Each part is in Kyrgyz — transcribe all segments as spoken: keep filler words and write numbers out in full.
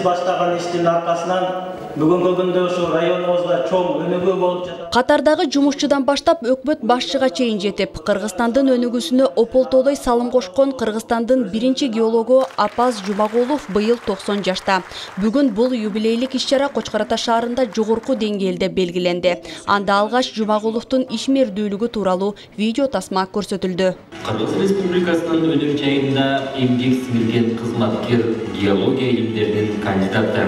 баштаган иштин аркасынан бүгүнкү күндө ушул районубузда чоң өнүгүү болуп жатат. Катардагы жумушчудан баштап өкмөт башчыга чейин жетип, Кыргызстандын өнүгүүсүнө ополтодой салым кошкон Кыргызстандын биринчи геологу Апаз Жумагулов быйыл токсон жашта. Бүгүн бул юбилейлик иш-чара Кочкор Ата шаарында жогорку деңгээлде белгиленди. Анда алгач Жумагуловдун ишмердүүлүгү тууралуу видео тасма көрсөтүлдү. Кыргыз Республикасынын өнөр жайында эмгек сиңирген кызматкер, геология илимдеринин кандидаты,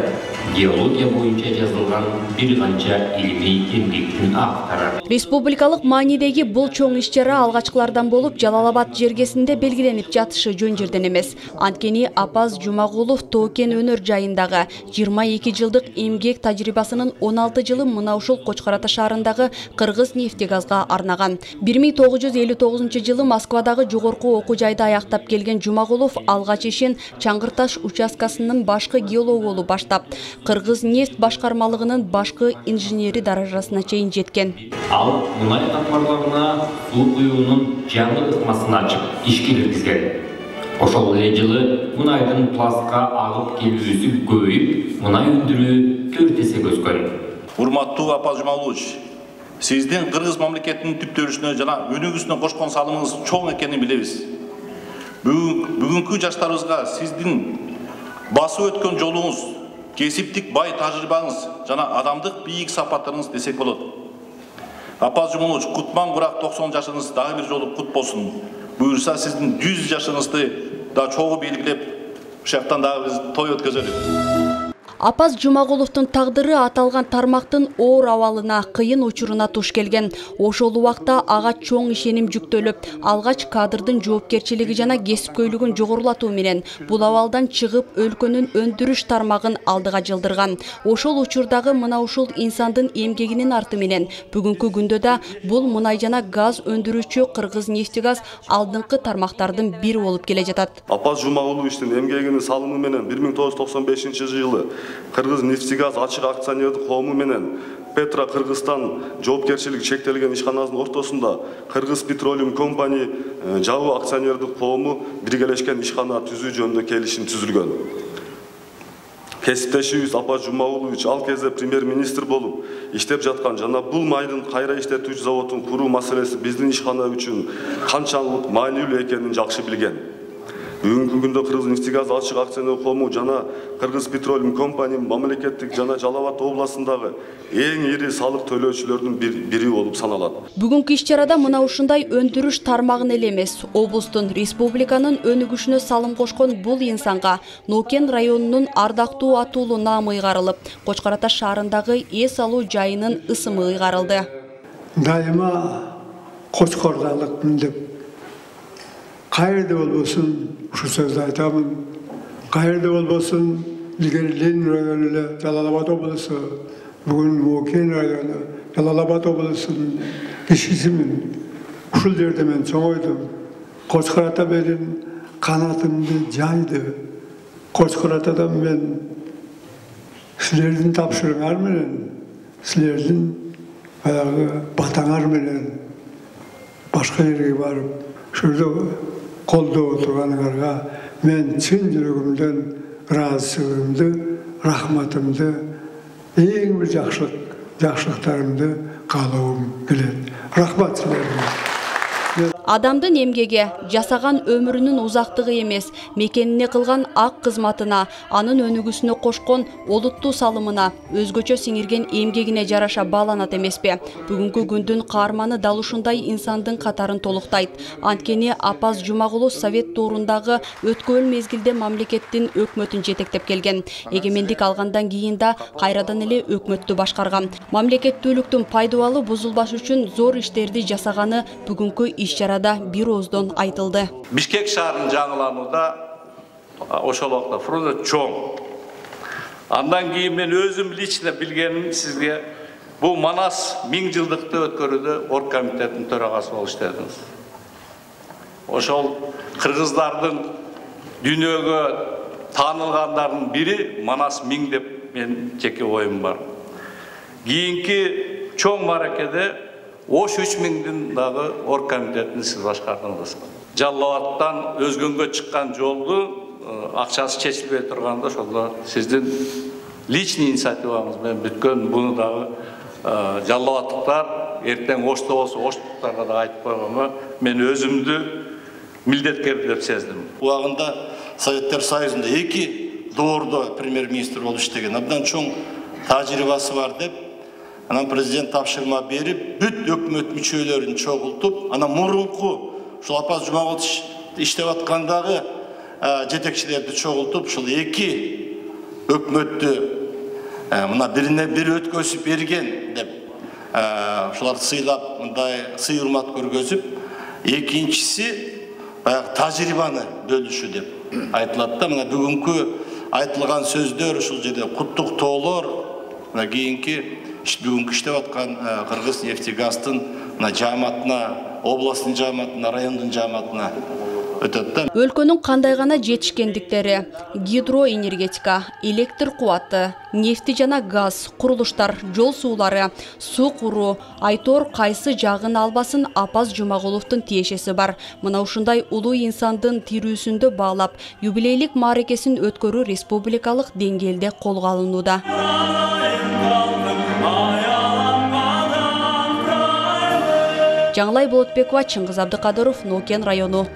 геология боюнча жазылган бир канча илимий эмгектин автору. Республикалык маанидеги бул чоң иш-чара алгачкылардан болуп Жалал-Абад жергесинде белгиленип жатышы жөн жерден эмес. Анткени Апаз Жумагулов Тоокен өнөр жайындагы жыйырма эки жылдык эмгек тажрыйбасынын он алты жылы мына ушул Кочкор Ата шаарындагы Кыргыз нефтегазга арнаган. бир миң тогуз жүз элүү тогузунчу жылы Москвадагы жогорку окуу жайды аяктап келген Жумагулов алгач ишин Чаңгырташ участкасынын башкы геологу болуп баштап, Кыргыз нефт башкармалыгынын башкы инженери даражасына чейин жеткен. Ал мунай камбарларына суу куюунун жаңы ыкмасын ачып ишке киргизген. Ошол эле жылы мунайдын пластка агып келүүсү көбөйүп, мунай өндүрүү төрт эсе өскөн. Урматтуу Апаз Жумагулович, сиздин Кыргыз мамлекетинин түптөлүшүнө жана өнүгүүсүнө кошкон салымыңыз чоң экенин билебиз. Бүгүнкү жаштарыбызга сиздин басып өткөн жолуңуз, кесиптик бай тажрыйбаңыз жана адамдык бийик сапаттарыңыз десек болот. Апаз Жумагулович, кутман курак токсон жашыңыз дагы бир жолу кут болсун. Буюрса сиздин жүз жашыңызды да чогуу белгилеп, ушактан дагы биз той өткөзөлүк. Апаз Жумагуловдун тагдыры аталган тармактын оор абалына, кыйын учуруна туш келген. Ошол убакта ага чоң ишеним жүктөлүп, алгач кадрдын жоопкерчилиги жана кесипкөйлүгүн жогорулатуу менен бул абалдан чыгып өлкөнүн өндүрүш тармагын алдыга жылдырган. Ошол учурдагы мына ушул инсандын эмгегинин арты менен бүгүнкү күндө да бул мунай жана газ өндүрүүчү Кыргыз нефтегаз алдыңкы тармактардын бири болуп келе жатат. Апаз Жумагуловичтин эмгегинин салымы менен бир миң тогуз жүз токсон бешинчи жылы Кыргыз нефтегаз ачык акционердик коому менен Петра Кыргызстан жоопкерчилиги чектелген ишканасынын ортосунда Кыргыз Petroleum Company жабуу акционердик коому биргелешкен ишкана түзүү жөнүндө келишим түзүлгөн. Кесиптешибиз Апаз Жумагулович ал кезде премьер-министр болуп иштеп жаткан жана бул майдын кайра иштетүүчү заводун куруу маселеси биздин ишкана үчүн канчалык маанилүү экенин жакшы билген. Бүгүнкү күндө Кыргыз нефтегаз ачык акционер коому жана Кыргыз Petroleum Company мамлекеттик жана Жалал-Абад областындагы эң ири салык төлөөчүлөрдүн бири болуп саналат. Бүгүнкү иш-чарада мына ушундай өндүрүш тармагын эле эмес, облустун, республиканын өнүгүшүнө салым кошкон бул инсанга Нокен районунун ардактуу атуулу наамы ыйгарылып, Кочкор Ата шаарындагы эс алуу жайынын ысымы ыйгарылды. Дайыма Кочкордалыкмын деп кайерде болбосун ушу сөздү айтамын. Кайерде болбосун, илгери Ленин району эле Жалал-Абад облусу, бүгүн Нокен району, Жалал-Абад облусунун кишисимин. Ушул жерде мен чоңойдум. Кочкор Ата менин канатымды жайды. Кочкор Атадан мен силердин тапшырыгыңар менен, силердин баягы батаңар менен башка жерге барып, ушурда колдоо турганыңарга мен чын жүрөгүмдөн ыраазычылыгымды, рахматымды, эң бир жакшылык, жакшылыктарымды каалоом келет. Рахмат силерге. Адамдын эмгеге, жасаган өмүрүнүн узактыгы эмес, мекенине кылган ак кызматына, анын өнүгүүсүнө кошкон олуттуу салымына, өзгөчө сиңирген эмгегине жараша бааланат эмеспи? Бүгүнкү күндүн каарманы дал ушундай инсандын катарын толуктайт. Анткени Апаз Жумагулов совет доорундагы өткөн мезгилде мамлекеттин өкмөтүн жетектеп келген. Эгемендик алгандан кийин да кайрадан эле өкмөттү башкарган. Мамлекеттүүлүктүн пайдубалы бузулбаш үчүн зор иштерди жасаганы бүгүнкү иш-чарада бир ооздон айтылды. Бишкек шаарынын жаңыланууда ошол убакта фронт чоң. Андан кийин мен өзүм лично билгеним сизге бул Манас миң жылдыкты өткөрүүдө оргкомитеттин төрагасы болуп иштедиңиз. Ошол кыргыздардын дүйнөгө таанылгандардын бири Манас миң деп мен жеке оюм бар. Кийинки чоң мааракеде Ош үч миңдин дагы оргкомитетин сиз башкардыңыз. Жалал-Абадтан өзгөнгө чыккан жолду акчасы чечилбей турганда ошондо сиздин личный инициативаңыз менен бүткөн буну дагы жалал абадтыктар эртең Ошто болсо Оштуктарга да айтып койгонго мен өзүмдү милдеткер деп сездим. Убагында Советтер Союзунда эки доордо премьер-министр болуп иштеген, абдан чоң тажрыйбасы бар деп, анан президент тапшырма берип, бүт өкмөт мүчөлөрүн чогултуп, анан мурунку ушул Апаз Жумагулович иштеп аткандагы жетекчилерди чогултуп, ушул эки өкмөттү мына бирине бири өткөзүп берген деп, ушуларды сыйлап, мындай сый урмат көргөзүп, экинчиси баягы тажрыйбаны бөлүшүү деп айтылат да. Мына бүгүнкү айтылган сөздөр, ушул жерде куттуктоолор, мына кийинки бүгүнкү иштеп аткан Кыргыз нефтегастын мына жааматына, областтын жааматына, райондун жааматына өтөт да. Өлкөнүн кандай гана жетишкендиктери: гидроэнергетика, электр кубаты, нефти жана газ, курулуштар, жол суулары, суу куруу, айтор кайсы жагын албасын Апаз Жумагуловдун тиешеси бар. Мына ушундай улуу инсандын тирүүсүндө баалап, юбилейлик мааракесин өткөрүү республикалык деңгээлде колго алынууда. Жаңылай Болотбекова, Чыңгыз Абдыкадыров, Нокен району.